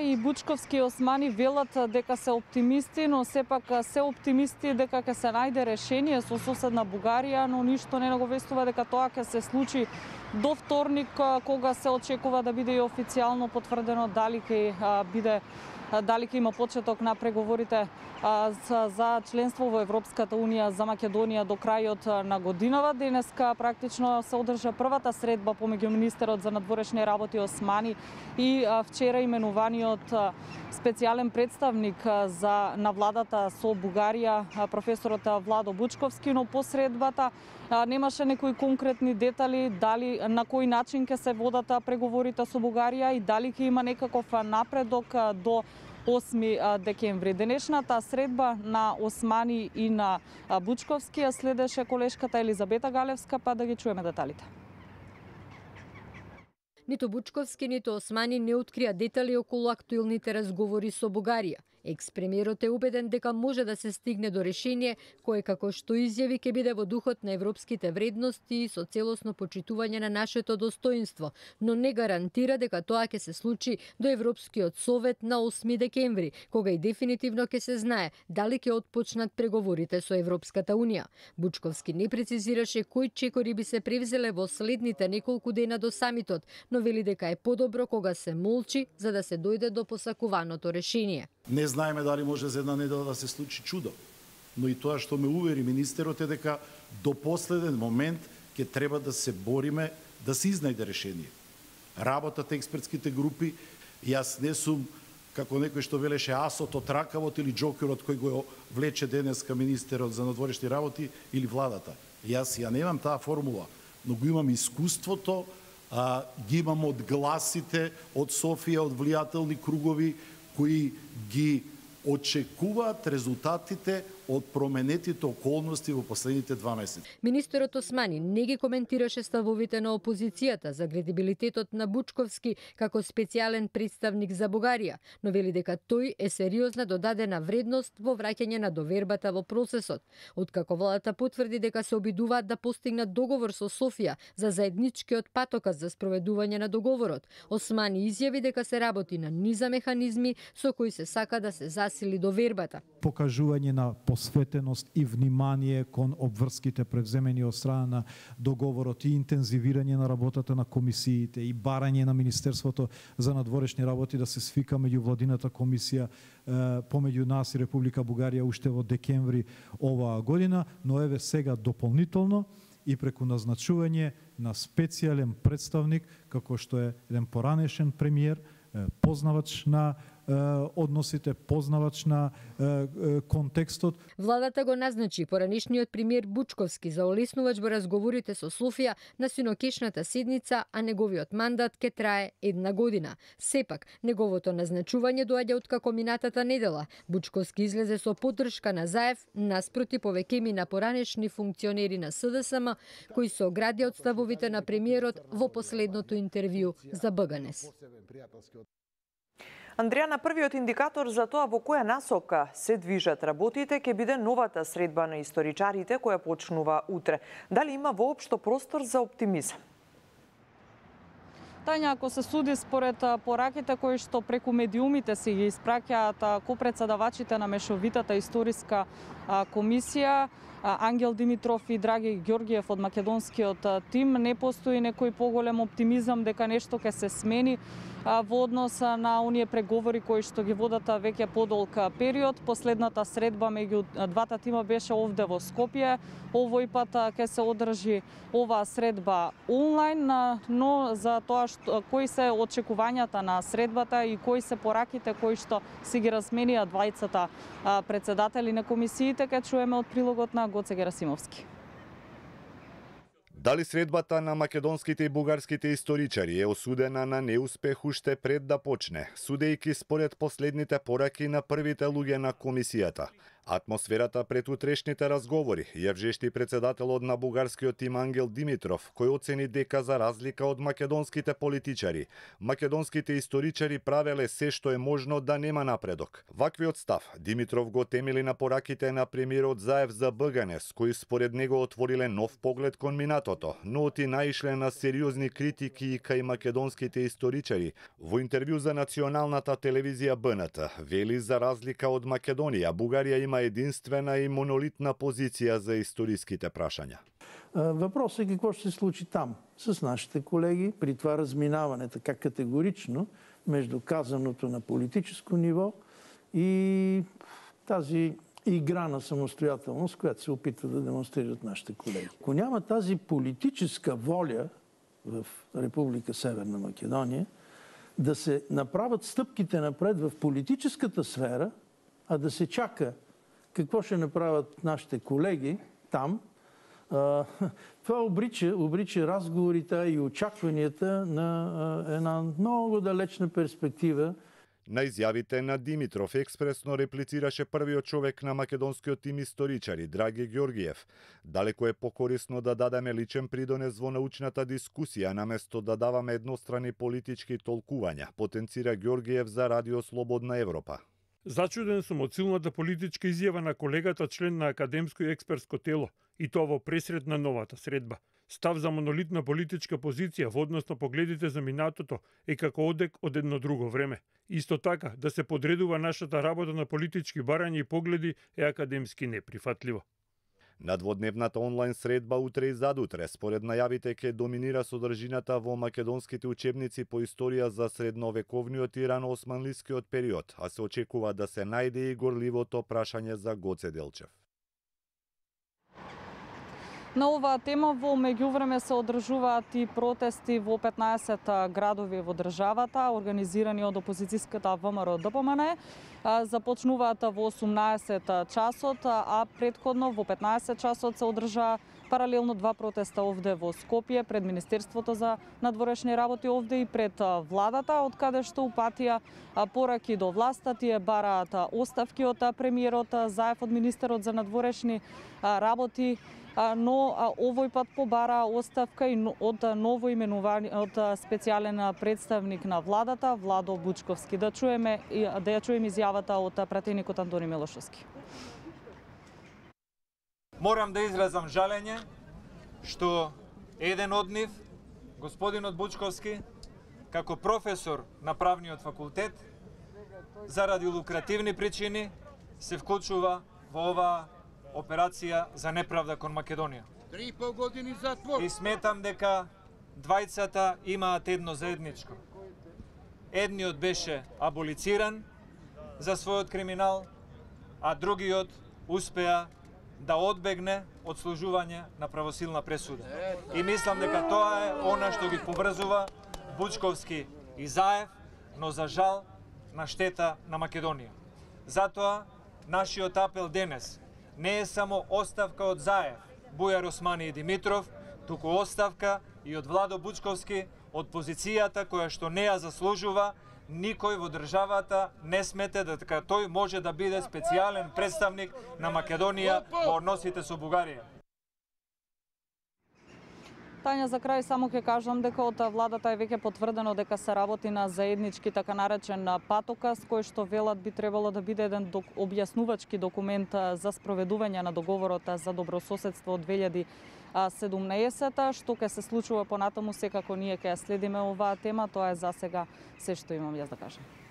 И Бучковски и Османи велат дека се оптимисти, но сепак се оптимисти дека ќе се најде решение со соседна Бугарија, но ништо не наговестува дека тоа ќе се случи до вторник, кога се очекува да биде и официјално потврдено дали ќе има почеток на преговорите за членство во Европската Унија за Македонија до крајот на годинава. Денеска практично се одржа првата средба помеѓу министерот за надворешни работи Османи и вчера именуваниот специјален представник на владата со Бугарија, професорот Владо Бучковски, но по средбата немаше некои конкретни детали дали на кој начин ќе се водат преговорите со Бугарија и дали ќе има некаков напредок до 8 декември. Денешната средба на Османи и на Бучковски ја следеше колешката Елизабета Галевска, па да ги чуеме деталите. Нито Бучковски, нито Османи не открија детали околу актуелните разговори со Бугарија. Екс-премиерот е убеден дека може да се стигне до решение кое, како што изјави, ќе биде во духот на европските вредности и со целосно почитување на нашето достоинство, но не гарантира дека тоа ќе се случи до Европскиот совет на 8 декември, кога и дефинитивно ќе се знае дали ќе отпочнат преговорите со Европската Унија. Бучковски не прецизираше кои чекори би се превзеле во следните неколку дена до самитот, но вели дека е подобро кога се молчи за да се дојде до посакуваното решение. Не знаеме дали може за една недела да се случи чудо, но и тоа што ме увери министерот е дека до последен момент ќе треба да се бориме да се изнајде решение. Работата експертските групи, јас не сум како некој што велеше асот од ракавот или џокерот кој го влече денеска министерот за надворешни работи или владата. Јас ја немам таа формула, но го имам искуството, ги имам од гласите од Софија, од влијателни кругови кои ги очекуваат резултатите од променетите околности во последните 2 месеци. Министерот Османи не ги коментираше ставовите на опозицијата за кредибилитетот на Бучковски како специјален представник за Бугарија, но вели дека тој е сериозна додадена вредност во враќање на довербата во процесот. Откако владата потврди дека се обидуваат да постигнат договор со Софија за заедничкиот патокас за спроведување на договорот, Османи изјави дека се работи на низа механизми со кои се сака да се засили довербата. Покажување на посветеност и внимание кон обврските превземени од страна на договорот и интензивирање на работата на комисиите и барање на Министерството за надворешни работи да се свика меѓувладината комисија помеѓу нас и Република Бугарија уште во декември оваа година, но еве сега дополнително и преку назначување на специјален представник, како што е еден поранешен премиер, познавач на односите, познавач на контекстот. Владата го назначи поранешниот премиер Бучковски за олеснувач во разговорите со Софија на синокешната седница, а неговиот мандат ќе трае 1 година. Сепак, неговото назначување доаѓа откако минатата недела Бучковски излезе со поддршка на Заев наспроти повеќеми на поранешни функционери на СДСМ кои се оградија од ставовите на премиерот во последното интервју за БГНЕС. Андреја, на првиот индикатор за тоа во која насока се движат работите ќе биде новата средба на историчарите која почнува утре. Дали има воопшто простор за оптимизам? Тања, ако се суди според пораките кои што преку медиумите си ги испраќаат копредседавачите на мешовитата историска комисија, Ангел Димитров и Драги Ѓоргиев од македонскиот тим, не постои некој поголем оптимизам дека нешто ќе се смени во однос на оние преговори кои што ги водат веќе подолг период. Последната средба меѓу двата тима беше овде во Скопје. Овој пат ќе се одржи оваа средба онлайн, но за тоа кои се очекувањата на средбата и кои се пораките кои што си ги разменија двајцата председатели на комисиите, ќе чуеме од прилогот на Гоце Герасимовски. Дали средбата на македонските и бугарските историчари е осудена на неуспех уште пред да почне, судејќи според последните пораки на првите луѓе на комисијата? Атмосферата пред утрешните разговори ја вжешти председателот на бугарскиот тим Ангел Димитров, кој оцени дека за разлика од македонските политичари, македонските историчари правеле се што е можно да нема напредок. Ваквиот став Димитров го темели на пораките на премиерот Заев за БГНС, кои според него отвориле нов поглед кон минатото, но оти наишле на сериозни критики и кај македонските историчари. Во интервју за националната телевизија БНТ, вели за разлика од Македонија, Бугарија има единствена и монолитна позиција за историските прашања. Въпросът е какво ще се случи там с нашите колеги при това разминаване така категорично между казаното на политическо ниво и тази игра на самостоятелност, която се опитва да демонстрират нашите колеги. Ако няма тази политическа воля в Република Северна Македония да се направят стъпките напред в политическата сфера, а да се чака какво ще направят нашите колеги там, това обрича разговорите и очакванията на една много далечна перспектива. На изјавите на Димитров експресно реплицираше првиот човек на македонскиот тим историчари, Драги Георгиев. Далеко е покорисно да дадеме личен придонес во научната дискусија, наместо да даваме еднострани политички толкувања, потенцира Георгиев за Радио Слободна Европа. Зачуден сум од силната политичка изјава на колегата член на академско и експертско тело, и тоа во пресред на новата средба. Став за монолитна политичка позиција во однос на погледите за минатото е како одек од едно друго време. Исто така, да се подредува нашата работа на политички барања и погледи е академски неприфатливо. На дводневната онлайн средба утре и задутре, според најавите, ќе доминира содржината во македонските учебници по историја за средновековниот и рано-османлискиот период, а се очекува да се најде и горливото прашање за Гоце Делчев. На оваа тема во меѓувреме се одржуваат и протести во 15 градови во државата, организирани од опозицијската ВМРО ДПМН. Започнуваат во 18 часот, а предходно во 15 часот се одржа паралелно два протеста овде во Скопје, пред Министерството за надворешни работи овде и пред владата, од каде што упатија пораки до власта. Тие бараат оставки од премиерот Заев, од министерот за надворешни работи, но овој пат побара оставка и од ново именувани од специјален представник на владата Владо Бучковски. Да ја чуеме изјавата од пратеникот Антони Милошовски. Морам да изразам жалење што еден од нив, господинот Бучковски, како професор на правниот факултет, заради лукративни причини се вклучува во оваа операција за неправда кон Македонија. 3,5 години затвор. И сметам дека двајцата имаат едно заедничко. Едниот беше аболициран за својот криминал, а другиот успеа да одбегне од служување на правосилна пресуда. И мислам дека тоа е она што ги поврзува Бучковски и Заев, но за жал на штета на Македонија. Затоа нашиот апел денес не е само оставка од Заев, Бујар Османи и Димитров, туку оставка и од Владо Бучковски, од позицијата која што не ја заслужува. Никој во државата не смете дека тој може да биде специјален представник на Македонија во односите со Бугарија. Тања, за крај само ќе кажам дека од владата е веќе потврдено дека се работи на заеднички така наречен патоказ, кој што велат би требало да биде еден објаснувачки документ за спроведување на договорот за добрососедство од 2017, што ќе се случува понатаму, секако ние ќе ја следиме оваа тема. Тоа е за сега се што имам јас да кажам.